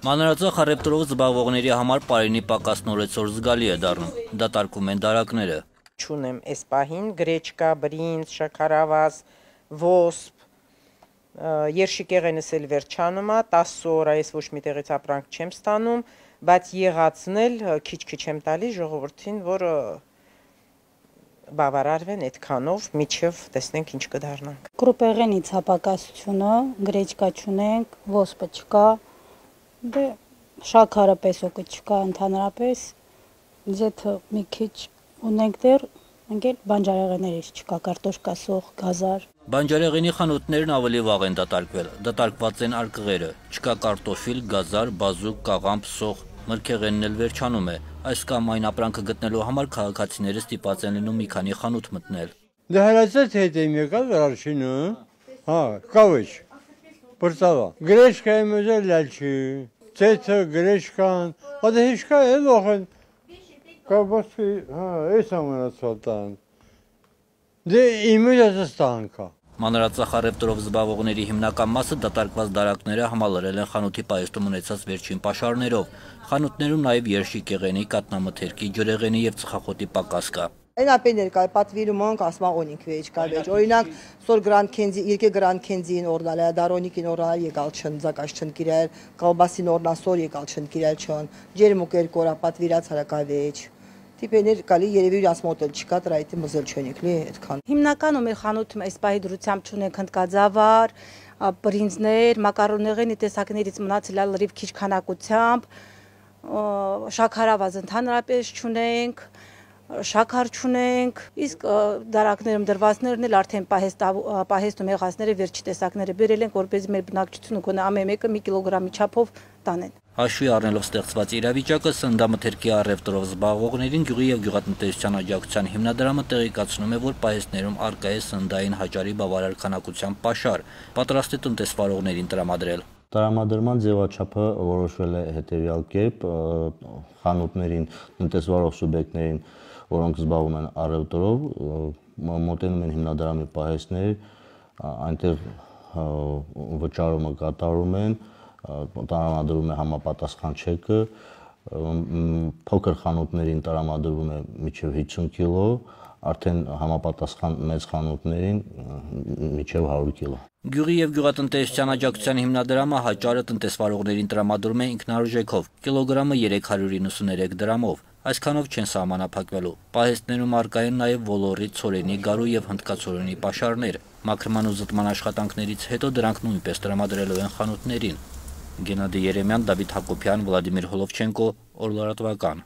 Մանրածախ առևտրով զբաղվողների համար պարենի պակասն օրեցօր զգալի է դառնում, դատարկում են դարակները։ Չունեմ այս պահին գրեչկա, բրինձ, շաքարավազ, ոսպ, երշիկեղենս էլ վերջանում է, 10 օր այս ոչ մի տեղից ապրանք չեմ ստանում, բայց եղածն էլ քիչ-քիչ եմ տալի ժողովրդին, որ բավարարվեն այդքանով, միջև տեսնենք ինչ կդառնանք։ Կրուպեղենի ցապակասությունը, գրեչկա չունենք, ոսպը չկա, դե շաքարը պեսոկը չկա ընդհանրապես, ձեթը մի քիչ ունենք դեռ, ընկել բանջարեղեններից չկա, կարտոշկա, սոխ, գազար։ Բանջարեղենի խանութներն ավելի վաղ են դատարկվել, դատարկված են արկղերը, չկա կարտոֆիլ, գազար, բազուկ, կաղամբ, սոխ, մրգեղենն էլ վերջանում է, այս կամ այն ապրանքը գտնելու համար քաղաքացիները ստիպված են լինում մի քանի խանութ մտնել։ Դե հրացած հետ եմ եկալ վերջինը, հա, կավեջ, բրծավա, գրեչկայ մոզել լալչի, ձեթը, գրեչկան, ադե հիշկա է լոխեն, կավբասի, հա, այս ամենացվատան, դե իմույդացը ստանքա։ Մանրածախ առևտրով զբաղվողների հիմնական մասը դատարկված դարակները համալրել են խանութի պահեստում ունեցած վերջին պաշարներով։ Խանութներում նաև երշիկեղենի, կատնամթերքի, ջրեղենի եւ ծխախոտի պակաս կա։ Այն ապեներ կա պատվիրում ենք ասма օնիկ վեճ կա վեճ օրինակ սոր գրանդ քենզի երկե գրանդ քենզին օրնալ է դարոնիկին օրալ եկալ չն զակաշ չն կիրել կալբասին օրնա սոր եկալ չն կիրել չն ջերմուկ երկորա պատվիրած հարակա վեճ տիպեներ կալի երևի ասմոտել չկա դրայտի մզել չունեք լի այդքան Հիմնականում մեր խանութում այս պահի դրությամբ չունենք հնդկաձավար, բրինձներ, մակարոնեղենի տեսակներից մնացել է լրիվ քիչ քանակությամբ, շաքարավազ ընդհանրապես չունենք, շաքար չունենք, իսկ դարակներում դրվածներն էլ արդեն պահեստում եղածները վերջի տեսակները բերել ենք, որպեսզի մեր բնակչությունը գոնե ամեն մեկը մի կիլոգրամի չափով տանեն։ Հաշվի առնելով ստեղծված իրավիճակը, սննդամթերքի առևտրով զբաղվողներին գյուղի եւ գյուղատնտեսության աջակցության հիմնադրամը տեղեկացնում է, որ պահեստներում առկա է սննդային հաճարի բավարար քանակությամբ պաշար, պատրաստ է տնտեսվարողներին տրամադրել։ Տրամադրման ձևաչափը որոշվել է հետևյալ կերպ, խանութներին, տնտեսվարող սուբյեկտներին, որոնք զբաղվում են առևտրով, մոտենում են հիմնադրամի պահեստներ, այնտեղ վճարումը կատարում են, տրամադրվում է համապատասխան չեկը, փոքր խանութներին տրամադրվում է մինչև 50 կիլո, արդեն համապատասխան մեծ խանութներին մինչև 100 կիլո։ Գյուղի եւ գյուղատնտեսության աջակցության հիմնադրամը հաճարը տնտեսվարողներին տրամադրում է ինքնարժեքով, կիլոգրամը 393 դրամով, այսքանով չեն սահմանափակվելու։ Պահեստներում առկա են նաեւ ոլորի, ցորենի, գարու եւ հնդկացորենի պաշարներ։ Մաքրման ու զտման աշխատանքներից հետո դրանք նույնպես տրամադրելու են խանութներին։ Գենադի Երեմյան, Դավիթ Հակոբյան, Վլադիմիր Հոլովչենկո, Օրլարատվական։